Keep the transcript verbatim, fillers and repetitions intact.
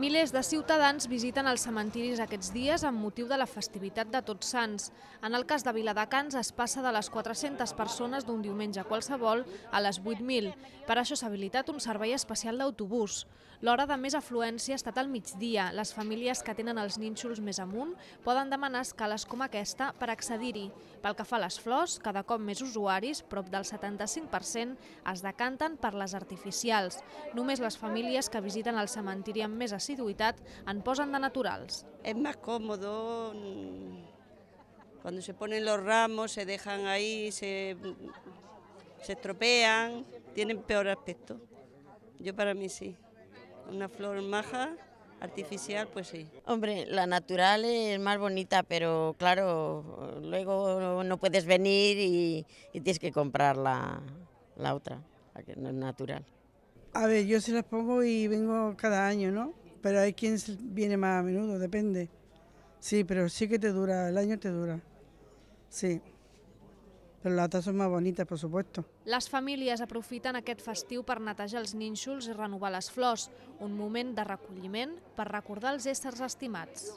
Milers de ciutadans visiten els cementiris aquests dies amb motiu de la festivitat de Tots Sants. En el cas de Viladecans es passa de les quatre-centes persones d'un diumenge qualsevol a les vuit mil. Per això s'ha habilitat un servei especial d'autobús. L'hora de més afluència ha estat al migdia. Les famílies que tenen els nínxols més amunt poden demanar escales com aquesta per accedir-hi. Pel que fa a les flors, cada cop més usuaris, prop del setanta-cinc per cent, es decanten per les artificials. Només les famílies que visiten el cementiri amb més asiduidad en posen de naturals. Es más cómodo, cuando se ponen los ramos se dejan ahí, se, se estropean, tienen peor aspecto. Yo para mí sí, una flor maja, artificial, pues sí. Hombre, la natural es más bonita, pero claro, luego no puedes venir y, y tienes que comprar la, la otra, la que no es natural. A ver, yo se las pongo y vengo cada año, ¿no? Pero hay quien viene más a menudo, depende. Sí, pero sí que te dura, el año te dura. Sí. Però les altres són més bonites, per supuesto. Les famílies aprofiten aquest festiu per netejar els nínxols i renovar les flors, un moment de recolliment per recordar els éssers estimats.